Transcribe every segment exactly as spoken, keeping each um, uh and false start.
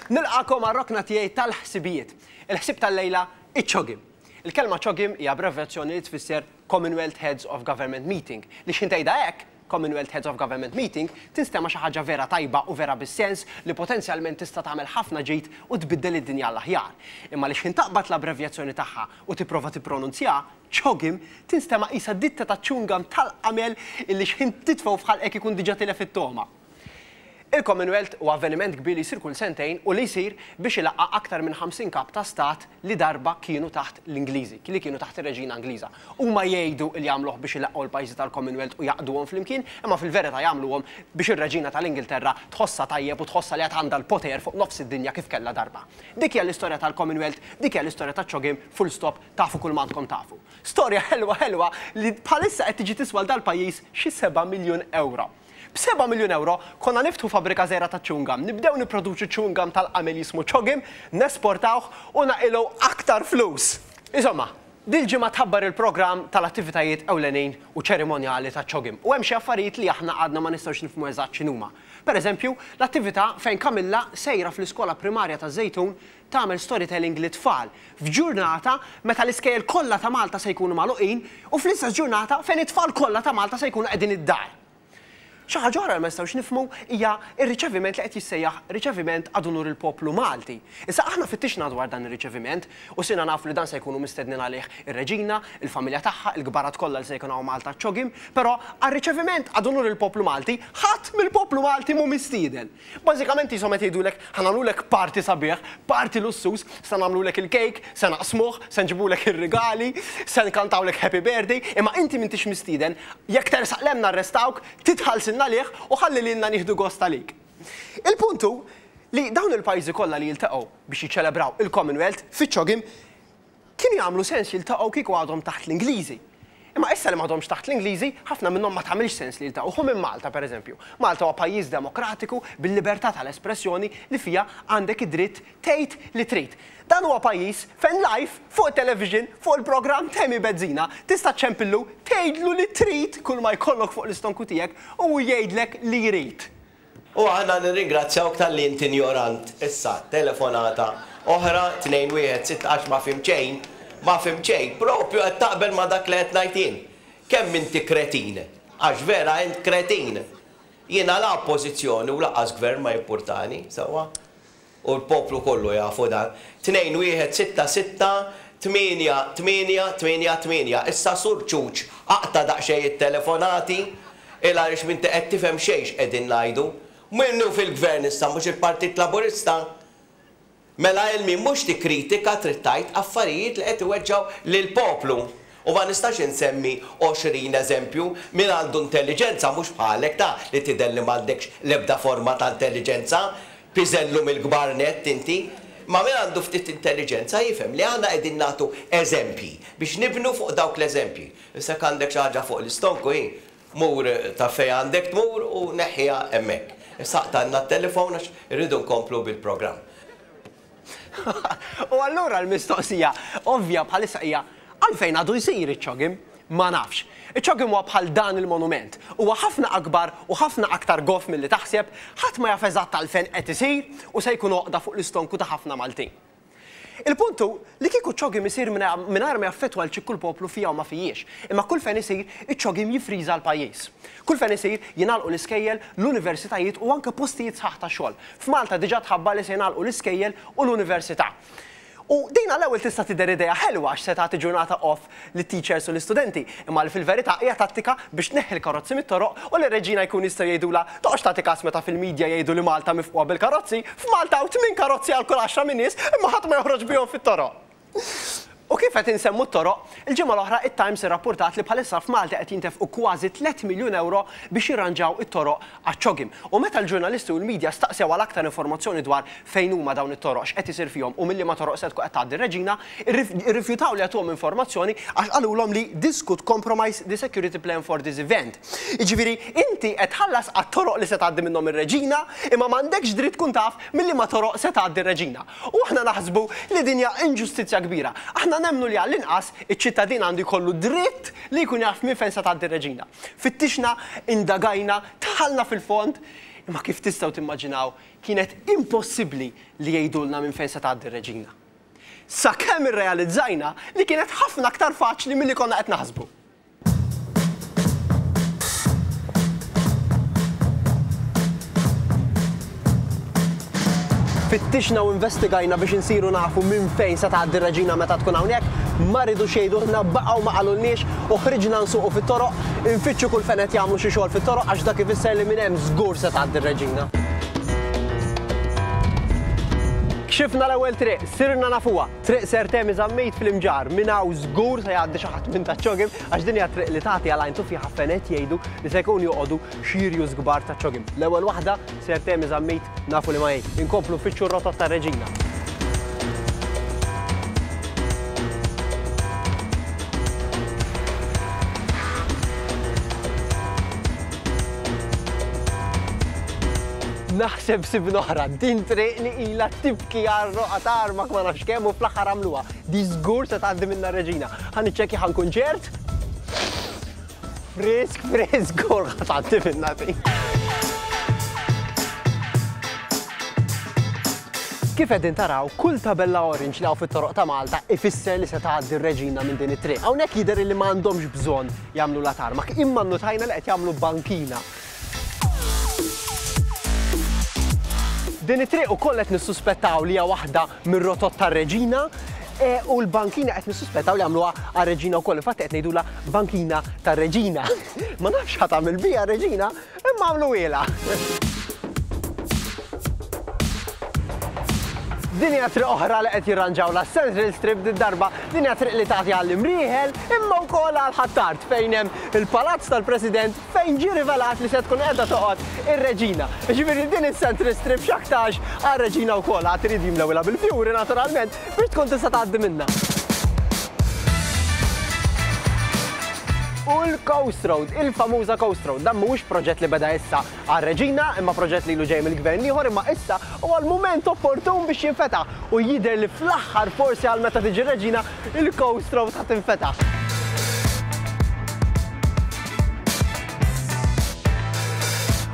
Nilqagħkom għar-rokna tiegħi tal-ħsibijiet. Il-ħsib tal-lejla, iċ-CHOGM. Il-kelma CHOGM hija abbreviazzjoni li tfisser Commonwealth Heads of Government Meeting. Li x'ħin tgħidha hekk, Commonwealth Heads of Government Meeting, tinstema' xi ħaġa vera tajba u vera bis-sens li potenzjalment tista' tagħmel ħafna ġid u tbiddel id-dinja l-aħjar. Imma li x'ħin taqbad l-abbrevjazzjoni tagħha u tipprova tippronunzja, CHOGM, tinstema' qisha ditta ta' chewing gum tal-qamel illi x'ħin titfgħu f'ħalqek ikun diġà tilef it-togħma. Il-Commonwealth huwa avveniment kbir li jsir kull sentejn u li jsir biex ilaqqa' aktar minn ħamsin kap ta' stat li darba kienu taħt l-Ingliżi, li kienu taħt ir-Reġina Ingliża. Huma jgħidu li jagħmluh biex ilaqqgħu l-pajjiżi tal-Commonwealth u jgħaqqduhom flimkien, imma fil-verità jagħmluhom biex ir-Reġina tal-Ingilterra tħossha tajjeb u tħossha li għad għandha l-poter fuq nofs id-dinja kif kellha darba. Dik hija l-istorja tal-Commonwealth, dik hija l-istorja taċ-CHOGM, full stop, tafu kull m'għandkom tafu. Storja ħelwa ħelwa li bħalissa qed tiġi tiswa dal-pajjiż xi seba' miljun euro. B'seba' miljun euro konna niftħu fabbrika żgħira ta' chewing gum, nibdew nipproduċu chewing gum tal-qamel jismu CHOGM, nesportawh u naqilgħu aktar flus. Insomma, dil-ġimgħa tħabbar il-programm tal-attivitajiet ewlenin u ċerimonjali ta' CHOGM. U hemm xi affarijiet li aħna għadna ma nistgħux nifhmu eżatt x'inhuma. Per eżempju, l-attività fejn Camilla sejra fl-iskola primarja ta' Żejtun tagħmel storytelling lit-tfal f'ġurnata meta l-iskejjel kollha ta' Malta se jkunu magħluqin u fl-istess ġurnata fejn it-tfal kollha ta' Malta se jkunu qegħdin id-dar. Xi ħaġa oħra li ma nistgħux nifhmu hija r-riċeviment li qed jissejjaħ riċeviment ad unur il-poplu Malti. Issa aħna fittixna dwar dan ir-riċeviment u sirna nafu li dan se jkunu mistednin għalih ir-reġina, il-familja tagħha, il-kbarat kollha li se jkunu hawn Malta CHOGM, però għar-riċeviment ad unur il-poplu Malti ħadd mill-poplu Malti mhu mistieden. Bażikament qishom qed jgħidulek ħa nagħmlulek party sabiħ, party lussuż, se nagħmlulek il-kejk, se naqsmuh, se nġibulek ir-rigali, se nkantawlek happy birthday, imma inti m'intix mistieden, jekk tersaq 'l hemm narrestawk, titħallsilna għalih u ħalli lilna nieħdu gost għalik. Il-puntu li dawn il-pajjiżi kollha li jiltaqgħu biex jiċċelebraw il-Commonwealth fiċ-CHOGM kienu jagħmlu sens jiltaqgħu kieku għadhom taħt l-Ingliżi. Imma issa li m'għadhomx taħt l-Ingliżi, ħafna minnhom ma tagħmilx sens li jiltaqgħu. Ħu minn Malta, pereżempju. Malta huwa pajjiż demokratiku bil-libertà tal-espressjoni li fija għandek id-dritt tgħid li trid. Dan huwa pajjiż fejn live fuq television, fuq il-programm Temi Bezzina, tista' ċempillu tgħidlu li trid kull ma jkollok fuq l-istonku tiegħek u jgħidlek li jrid. U aħna nirringrazzjawk talli inti ignorant. Issa, telefonata oħra tnejn wieħed sitta għax ma fhimt xejn, ma fhimt xejn, propju qed taqbel ma dak li qed ngħid jien. Kemm inti kretin? Għax vera int kretin. Jiena la oppożizzjoni u lanqas gvern ma jimpurtani, sewwa? U l-poplu kollu jafu dan. Tnejn wieħed sitta sitta tmienja tmienja tmienja tmienja. Issa sur ċuċ, aqta' daqsxejn it-telefonati, il għaliex m'inti qed tifhem xejn x'qegħdin ngħidu. Minnu fil-gvern issa mhux il-Partit Laburista. Mela ilmi mhux tikkritika trid tgħid affarijiet li qed iweġġgħu lill-poplu. U ma nistax insemmi għoxrin eżempju min għandu intelligenza mhux bħalek ta' li tidher li m'għandekx l-ebda forma ta' intelligenza, piżellu mill-kbar nett inti. Ma min għandu ftit intelligenza jifhem li aħna qegħdin nagħtu eżempji biex nibnu fuq dawk l-eżempji. Issa għandek xi ħaġa fuq l-istonku hi, mur ta' fejn għandek tmur u neħħiha hemmhekk. Issa aqtgħalna t-telefon għax irridu nkomplu bil-programm. U allura l-mistoqsija ovvja bħalissa hija għalfejn għadu jsir iċ-CHOGM? Ma nafx. Iċ-CHOGM huwa bħal dan il-monument. Huwa ħafna akbar u ħafna aktar goff milli taħseb, ħadd ma jaf eżatt għalfejn qed isir u se jkun oqda fuq l-istonku ta' ħafna Maltin. Il-puntu li kieku CHOGM isir mingħajr ma jaffettwa l kull poplu fija u ma fijiex. Imma kull fejn isir, iċ-CHOGM jifriża l-pajjiż. Kull fejn isir jingħalqu l-iskejjel, l-universitajiet u anke postijiet sħaħ ta' xogħol. F'Malta diġà tħabbar li se jingħalqu l-iskejjel u l-università. U din għall-ewwel tista' tidher idea ħelwa għax se tagħti ġurnata off lit-teachers u l-istudenti, imma li fil-verità hija tattika biex tneħħi l-karozzi mit-toroq u l-reġina jkun jistgħu jgħidulha toqgħodx tagħti każ meta fil-medja jgħidu li Malta mifqugħa bil-karozzi, f'Malta hawn tmien karozzi għal kull għaxra minn nies imma ħadd ma joħroġ bihom fit-toroq. U kif qed insemmu t-toroq, il-ġimgħa l-oħra it-Times irrappurtat li bħalissa f'Malta qed jintefqu kważi tliet miljun euro biex jirranġaw it-toroq għaċ-CHOGM. U meta l-ġurnalisti u l-medja staqsew għal aktar informazzjoni dwar fejn huma dawn it-toroq, x'qed isir fihom u milli ma toroq se tkun qed tgħaddi r-reġina, irrifjutaw li jagħtuhom informazzjoni għax qalulhom li this could compromise the security plan for this event. Jiġifieri inti qed tħallas għat-toroq li se tgħaddi minnhom ir-reġina, imma m'għandekx dritt tkun taf milli ma toroq se tgħaddi r-reġina. U aħna naħsbu li din hija inġustizzja kbira. Aħna nemnu li għall-inqas iċ-ċittadin għandu jkollu dritt li jkun jaf minn fejn se tgħaddi r-reġina. Fittixna, indagajna, dħalna fil-fond, Imma kif tistgħu timmaġinaw kienet impossibbli li jgħidulna minn fejn se tgħaddi r-reġina. Sakemm irrealizzajna li kienet ħafna aktar faċli milli konna qed naħsbu. Fittixna u investigajna biex insiru nafu minn fejn se tgħaddi r-reġina meta tkun hawnhekk, ma ridux jgħidulna, baqgħu ma qalulniex u ħriġna nsuqu fit-toroq, infittxu kull fejn qed jagħmlu xi xogħol fit-toroq għax dak ifisser li minn hemm żgur se tgħaddi r-reġina. Kxifna l-ewwel triq, sirna nafuha, triq Sir Temi Zammit fl-Imġarr, minn hawn żgur se jgħaddi xi ħadd minn taċ-CHOGM għax din hija triq li tagħti għal għajn tuffiħa fejn qed jgħidu li se jkunu joqogħdu xi rjus kbar taċ-CHOGM. L-ewwel waħda Sir Temi Zammit nafu li ma hi. Inkomplu nfittxu r-rotot tar-reġina. Naħseb sibna oħra, din triq li ilha tibki għar-roqa ta' armak ma nafx kemm u fl-aħħar għamluha. Di żgur se tgħaddi minnha r-reġina. Ħa niċċekkja ħa nkun ċert. Frisk, frisk, żgur ħa tgħaddi minnha din. Kif qegħdin taraw, kull tabella orange li hawn fit-toroq ta' Malta ifisser li se tgħaddi r-reġina minn din it-triq. Hawnhekk jidher li m'għandhomx bżonn jagħmlu la tarmak, imma nnutajna li qed jagħmlu bankina. Din it-triq ukoll qed nissuspettaw li hija waħda mir-rotot tar-reġina e, u l-bankina qed nissuspettaw li għamluha għar-reġina wkoll. Infatti qed ngħidulha bankina tar-reġina. Ma nafx ħa tagħmel biha r-reġina, imma għamluhielha. Din hija triq oħra li qed jirranġaw la Central Strip din darba, din hija triq li tagħti għall-Imrieħel imma wkoll għal Ħ'Attard fejn hemm il-Palazz tal-President fejn ġie rivelat li se tkun qiegħda toqgħod ir-Reġina. Jiġifieri din is-Central Strip x'aktarx għar-Reġina wkoll għad irid jimlewilha bil-fjuri naturalment biex tkun tista' tgħaddi minnha. U l-Coast Road, il-famuża Coast Road, dan mhuwiex proġett li beda issa għar-Reġina, imma proġett li ilu ġej mill-gvern ieħor, imma issa huwa l-mument opportun biex jinfetaħ u jidher li fl-aħħar forsi għal meta tiġi r-Reġina, il-Coast Road ħa tinfetaħ.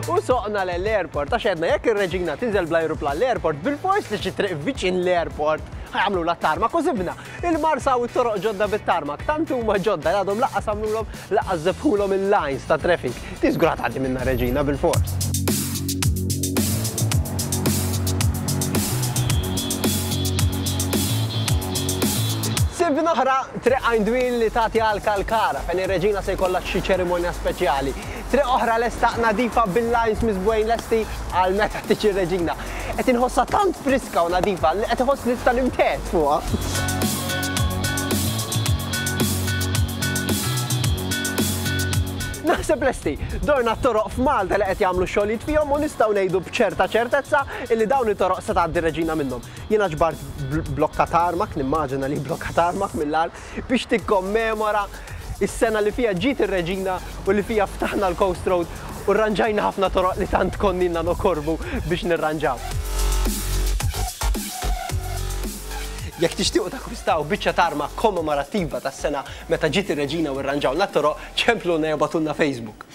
U soqna l-airport, għax għedna jekk ir-Reġina tinżel bl-ajruplan l-airport, bil-fors li xi triq viċin l-airport ħajamlu la tarmak u sibna il-Marsa u t-toroq ġodda bit-tarmak, tant huma ġodda li għadhom laqqas għamlulhom laqqas żebħulhom il-lines ta' traffic. Ti żgur ħa tgħaddi minnha Reġina bil-fors. Sibna oħra triq Għajn Dwieli li tagħti għal Kalkara fejn ir-Reġina se jkollha xi ċerimonja speċjali. Triq oħra lesta nadifa bil-lines miżbugħin lesti għal meta tiġi r-Reġina. Qed inħossha tant friska u nadifa li qed iħoss nista' nimtet fuqha. Naħseb lesti, dorna t-toroq f'Malta li qed jagħmlu xogħlijiet fihom u nistgħu ngħidu b'ċerta ċertezza illi dawn it-toroq se tgħaddi r-Reġina minnhom. Jiena ġbart blokka tarmak, nimmaġina li blokka tarmak mill-art biex tikkommemora is-sena li fija ġiet ir-Reġina u li fija ftaħna l-Coast Road u rranġajna ħafna toroq li tant konninna nokorbu biex nirranġaw. Jekk tixtiequ takkwistaw biċċa tarma kommemorattiva tas-sena meta ġiet ir-Reġina u rranġawna t-toroq, ċempluna jew bagħtulna Facebook.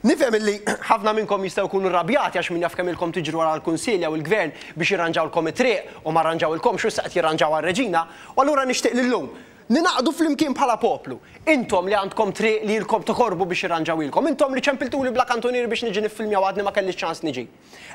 Nifhem illi ħafna minnkom jistgħu jkunu rrabjati għax min jaf kemm ilkom tiġru wara l-Kunsill jew il-Gvern biex jirranġawlkom it-triq u ma rranġawilkomx u issa qed jirranġaw għar-Reġina, u allura nixtieq li llum ninaqdu flimkien bħala poplu. Intom li għandkom triq li ilkom tokorbu biex jirranġawilkom, intom li ċempiltuli bla kantunieri biex niġi niffilmja u għadni ma kellix ċans niġi.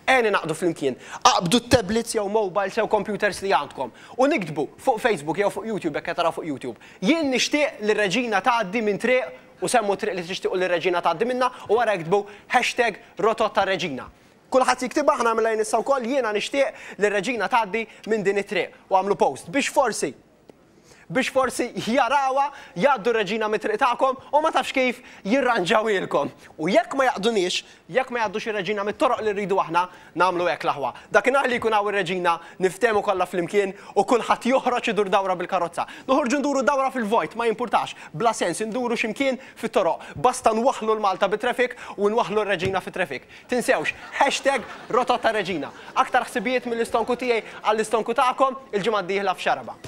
Ejja ninaqdu flimkien, aqbdu t-tablets jew mobiles jew computers li għandkom u niktbu fuq Facebook jew fuq YouTube jekk qed taraw fuq YouTube. Jien nixtieq li r-Reġina tgħaddi minn triq u semmu triq li tixtiequ li r-Reġina tgħaddi minnha u wara iktbu hashtag rotot tar-Reġina. Kulħadd jiktibha, aħna nagħmilha jien issa wkoll, jiena nixtieq li r-Reġina tgħaddi minn din it-triq u għamlu post biex forsi biex forsi jarawha, jgħaddu r-Reġina mit-triq tagħkom u ma tafx kif jirranġawilkom. U jekk ma jaqduniex, jekk ma jgħaddux ir-Reġina mit-toroq li rridu aħna, nagħmlu hekk l-aħwa. Dakinhar li jkun hawn ir-Reġina niftehmu kollha flimkien u kulħadd joħroġ idur dawra bil-karozza. Noħorġu nduru dawra fil-vojt, ma jimpurtax, bla sens induru x'imkien fit-toroq. Basta nwaħħlu l-Malta bit-traffic u nwaħħlu r-Reġina fit-traffic. Tinsewx, hashtag rotot tar-Reġina. Aktar ħsibijiet mill-istonku tiegħi għall-istonku tagħkom il-ġimgħa d-dieħla f'Xaraba.